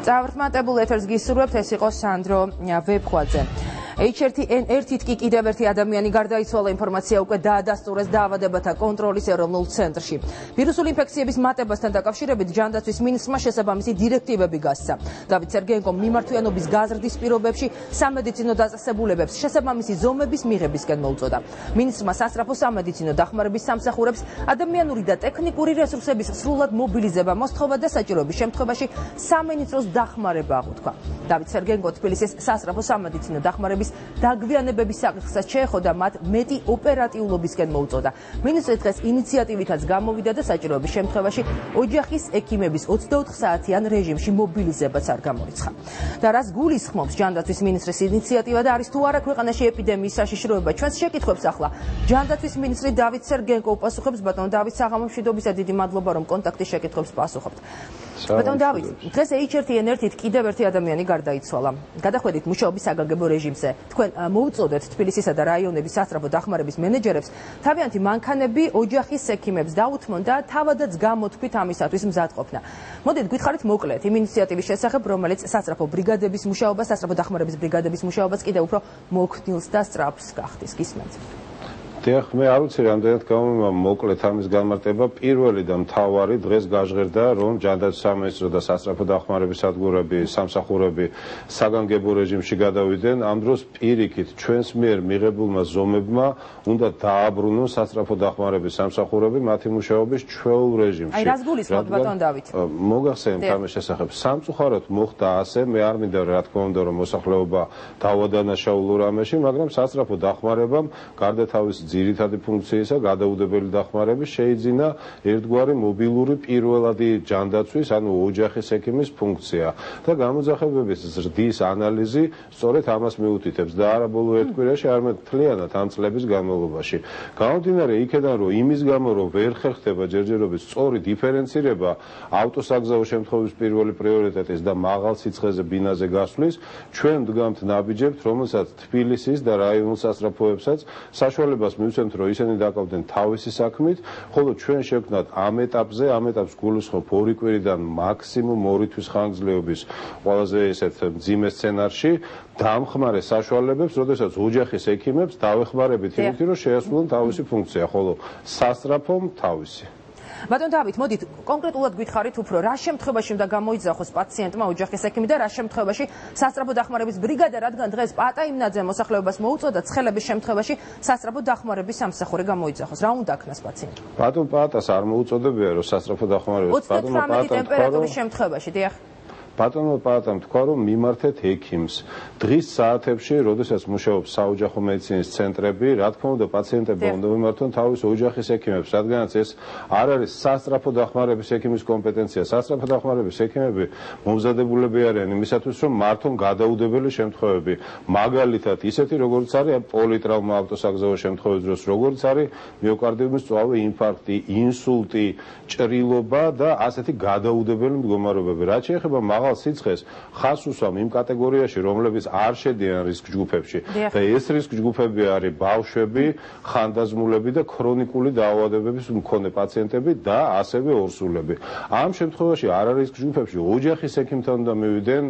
წავრთმატებულ ეთერს გისურვებთ, ეს იყო სანდრო ვეფხვაძე. H1N1-ით კი კიდევ ერთი ადამიანი გარდაიცვალა, ინფორმაცია უკვე დაადასტურეს დაავადებათა კონტროლის ეროვნულ ცენტრში. ვირუსული ინფექციების მატებასთან დაკავშირებით ჯანდაცვის მინისტრმა შესაბამისი დირექტივები გასცა. დავით სერგეენკომ მიმართვიანობის გაზრდის პირობებში სამედიცინო დაწესებულებებს შესაბამისი ზომების მიღებისკენ მოუწოდა. მინისტრმა სასწრაფო სამედიცინო დახმარების სამსახურებს ადამიანური და ტექნიკური რესურსების სრულად მობილიზება მოსთხოვა და საჭიროების შემთხვევაში სამინისტროს დახმარება აღუთქვა. დავით სერგეენკო თბილისის სასწრაფო სამედიცინო დახმარების დაგვიანებების საკითხსაც შეეხოდა, მათ მეტი ოპერატიულობისკენ მოუწოდა. მინისტრი დღეს ინიციატივითაც გამოვიდა და საჭიროების შემთხვევაში ოჯახის ექიმების 24 საათიან რეჟიმში მობილიზებაც არ გამორიცხა. და რას გულისხმობს ჯანდაცვის მინისტრის ინიციატივა და არის თუ არა ქვეყანაში ეპიდემიის საშიშროება? ჩვენს შეკითხვებს ახლა ჯანდაცვის მინისტრი დავით სერგეენკო უპასუხებს. ბატონო დავით, საღამომშვიდობისა, დიდი მადლობა, რომ კონტაქტის შეკითხვებს პასუხობთ. ბატონო დავით, დღეს H1N1-ით კიდევ ერთი ადამიანი გარდაიცვალა. გადახვედით მუშაობის საგანგებო რეჟიმზე. თქვენ მოუწოდეთ თბილისისა და რაიონების სასწრაფო დახმარების მენეჯერებს თავიანთი მანქანები ოჯახის ექიმებს დაუთმონ და თავადაც გამოთქვით ამისათვის მზადყოფნა. მოდით გითხარით მოკლედ იმ ინიციატივის შესახებ, რომელიც სასწრაფო ბრიგადების მუშაობას, სასწრაფო დახმარების ბრიგადების მუშაობას კიდევ უფრო მოქნილს და სწრაფს გახდის. გისმენთ. დიახ, მე არ ვიცი რამდენად გამომივა მოკლედ ამის განმარტება. პირველი და მთავარი დღეს გაჟღერდა, რომ ჯანდაცვის სამინისტრო და სასწრაფო დახმარების სადგურები, სამსახურები საგანგებო რეჟიმში გადავიდნენ. ამ დროს პირიქით ჩვენს მიერ მიღებულმა ზომებმა უნდა დააბრუნონ სასწრაფო დახმარების სამსახურები მათი მუშაობის ჩვეულ რეჟიმში. აი რას გულისხმობთ, ბატონ დავით? მოგახსენებთ ამის შესახებ. სამწუხაროდ მოხდა ასე, მე არ მინდა რა თქმა უნდა რომ მოსახლეობა დავადანაშაულო რამეში, მაგრამ სასწრაფო დახმარებამ გარდა თავის ძირითადი ფუნქციისა გადაუდებელი დახმარების შეიძინა ერთგვარი მობილური პირველადი ჯანდაცვის, ანუ ოჯახის ექიმის ფუნქცია და გამოძახებების ზრდის ანალიზი სწორედ ამას მიუთითებს და არა ბოლო ერთ კვირაში, არამედ მთლიანად ამ წლების განმავლობაში. გამომდინარე იქედან, რომ იმის გამო, რომ ვერ ხერხდება ჯერჯერობით სწორი დიფერენცირება ავტოსაგზაო შემთხვევების პირველი პრიორიტეტის და მაღალ სიცხეზე ბინაზე გასვლის, ჩვენ ვდგამთ ნაბიჯებთ, რომელსაც თბილისის და რაიონულ სასწრაფოებსაც საშუალებას მივცემთ, რომ ისინი დაკავდნენ თავისი საქმით, ხოლო ჩვენ შევქმნათ ამ ეტაპს გულისხმობ 2 კვირიდან მაქსიმუმ 2 თვის ხანგრძლივობის ყველაზე ესეთ მძიმე სცენარში დამხმარე საშუალებებს, როდესაც ოჯახის ექიმებს დავეხმარებით იმით, რომ შეასრულონ თავისი ფუნქცია, ხოლო სასწრაფომ თავისი. ბატონ დავით, მოდით კონკრეტულად გითხარით უფრო, რა შემთხვევაში უნდა გამოიძახოს პაციენტმა ოჯახის ექიმი და რა შემთხვევაში სასწრაფო დახმარების ბრიგადა, რადგან დღეს პატა იმნაძე მოსახლეობას მოუწოდა ცხელების შემთხვევაში სასწრაფო დახმარების სამსახური გამოიძახოს. რა უნდა აქნას პაციენტმა? ბატონ პატას არ მოუწოდებია, რომ სასწრაფო დახმარების 38 ტემპერატურის შემთხვევაში, დიახ. ბატონმა პატამ თქვა, რომ მიმართეთ ექიმს. დღის საათებში, როდესაც მუშაობს საოჯახო მედიცინის ცენტრები, რა თქმა უნდა, პაციენტები უნდა მიმართონ თავის ოჯახის ექიმებს, რადგანაც ეს არ არის სასწრაფო დახმარების ექიმის კომპეტენცია. სასწრაფო დახმარების ექიმები მომზადებულები არიან იმისათვის, რომ მართონ გადაუდებელი შემთხვევები. მაგალითად, ისეთი როგორც არის პოლიტრაუმა ავტოსაგზაო შემთხვევების დროს, როგორც არის მიოკარდიუმის წვავე, ინფარქტი, ინსულტი, ჭრილობა და ასეთი გადაუდებელი მდგომარეობები. რაც შეეხება მაღალ სიცხეს, ხას უსვამ იმ კატეგორიაში, რომლებიც არ შედიან რისკ ჯგუფებში. და ეს რისკ ჯგუფები არის ბავშვები, ხანდაზმულები და ქრონიკული დაავადებების მქონე პაციენტები და ასევე ორსულები. ამ შემთხვევაში არ არის რისკ ჯგუფებში ოჯახის ექიმთან უნდა მივიდნენ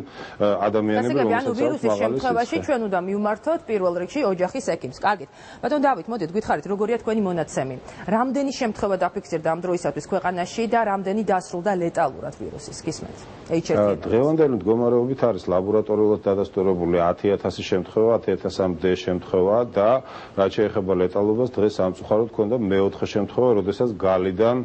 ადამიანები, რომელსაც აქვს ვირუსის შემთხვევაში ჩვენ უნდა მივმართოთ პირველ რიგში ოჯახის ექიმს. კარგით. ბატონ დავით, მოდით გითხარით, როგორია თქვენი მონაცემი? რამდენი შემთხვევა დაფიქსირდა ამ დროისათვის ქვეყანაში და რამდენი დასრულდა ლეტალურად ვირუსის? გისმენთ? დღევანდელი მდგომარეობით არის ლაბორატორიულად დადასტურებული 10,000 შემთხვევა, 10,000-მდე შემთხვევა და რაც შეეხება ლეტალობას, დღეს სამწუხაროდ ჰქონდა მეოთხე შემთხვევა, როდესაც გალიდან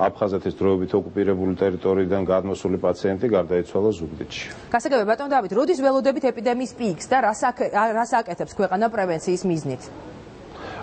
აფხაზეთის დროებით ოკუპირებული ტერიტორიიდან გადმოსული პაციენტი გარდაიცვალა ზუგდიდში. გასაგებია, ბატონ დავით, როდის ველოდებით ეპიდემიის პიკს და რას აკეთებს ქვეყანა პრევენციის მიზნით?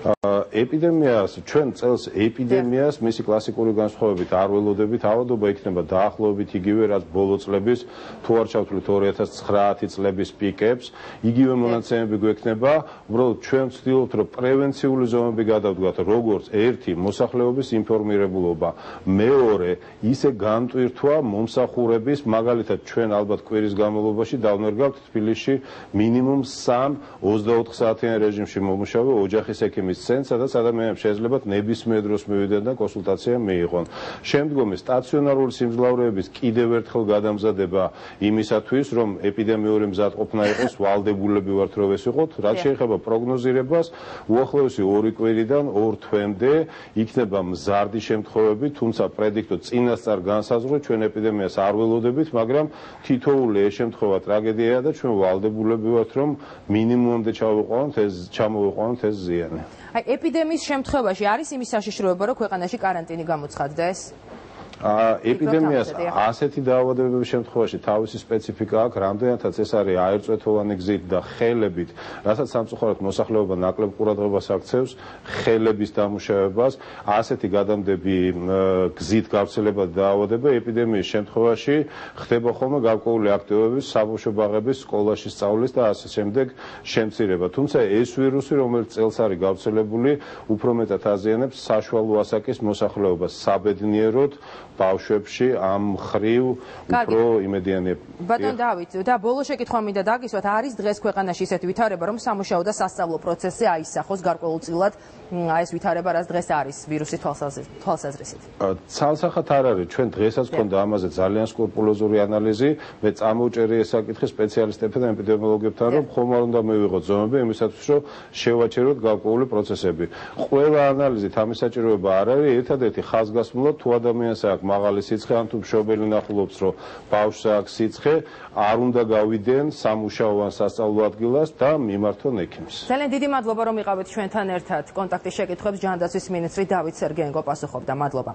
ეპიდემიას, ჩვენ წელს ეპიდემიას მისი კლასიკური განსხვავებით არ ველოდებით, ავადობა იქნება დაახლოებით იგივე, რაც ბოლო წლების, თუ არ ჩავთვლით 2009 წლების პიკებს, იგივე მონაცემები გვექნება, უბრალოდ ჩვენ ვცდილობთ, რომ პრევენციული ზომები გადავდგათ, როგორც ერთი მოსახლეობის ინფორმირებულობა, მეორე ისე განტვირთვა მომსახურების, მაგალითად ჩვენ ალბათ კვირის განმავლობაში დავნერგავთ თბილისში მინიმუმ 3 24 საათიან რეჟიმში მომუშავე ოჯახის ექიმის ეპიდემიის ცენტრს, სადაც ადამიანებს შეეძლებათ ნებისმიერ დროს მივიდნენ და კონსულტაცია მიიღონ. შემდგომი სტაციონარული სიმძლავრეების კიდევ ერთხელ გადამზადება იმისათვის, რომ ეპიდემიური მზადყოფნა იყოს, ვალდებულები ვართ რომ ეს იყოთ, რაც შეეხება პროგნოზირებას, უახლოესი 2 კვირიდან 2 თვემდე იქნება მზარდი შემთხვევები, თუმცა პრედიქტო წინასწარ განსაზღვრით ჩვენ ეპიდემიას არ ველოდებით, მაგრამ თითოეული ეს შემთხვევა ტრაგედიაა და ჩვენ ვალდებულები ვართ რომ მინიმუმამდე ჩამოვიყვანოთ ეს ზიანი. აი ეპიდემიის შემთხვევაში არის იმის საშიშროება, რომ ქვეყანაში კარანტინი გამოცხადდეს? ეპიდემიას ასეთი დაავადებების შემთხვევაში თავისი სპეციფიკა აქვს, რამდენადაც ეს არის აერწვეთოვანი გზით და ხელებით, რასაც სამწუხაროდ მოსახლეობა ნაკლებ ყურადღებას აქცევს ხელების დამუშავებას, ასეთი გადამდები გზით გავრცელება დაავადება ეპიდემიის შემთხვევაში ხდება ხოლმე გარკვეული აქტივობების, საბავშვო ბაღების, სკოლაში სწავლის და ასე შემდეგ შემცირება. თუმცა ეს ვირუსი, რომელიც წელს არის გავრცელებული, უფრო მეტად აზიანებს საშუალო ასაკის მოსახლეობას, საბედნიეროდ ბავშვებში ამ მხრივ უფრო იმედიანია. ბატონ დავით, და ბოლო შეკითხვა მინდა დაგისვათ, არის დღეს ქვეყანაში ისეთი ვითარება, რომ სამუშაო და სასწავლო პროცესზე აისახოს გარკვეულწილად ეს ვითარება, რაც დღეს არის ვირუსის თვალსაზრისით? ცალსახად არ არის, ჩვენ დღესაც გვქონდა ამაზე ძალიან სკრუპულოზური ანალიზი, მე წამოვჭერი ეს საკითხი სპეციალისტებთან და ეპიდემიოლოგებთან, რომ ხომ არ უნდა მივიღოთ ზომები იმისათვის, რომ შევაჩეროთ გარკვეული პროცესები. ყველა ანალიზით ამის საჭიროება არ არის, ერთადერთი ხაზგასმულად თუ ადამიანს აქვს მაღალი სიცხე, ან თუ მშობელი ნახულობს, რომ ბავშვს აქვს სიცხე, არ უნდა გავიდენ სამუშაო ან სასწავლო ადგილას და მიმართონ ექიმს. ძალიან დიდი მადლობა, რომ იყავით ჩვენთან ერთად. კონტაქტის შეკითხვებს ჯანდაცვის მინისტრი დავით სერგეენკო პასუხობდა. მადლობა.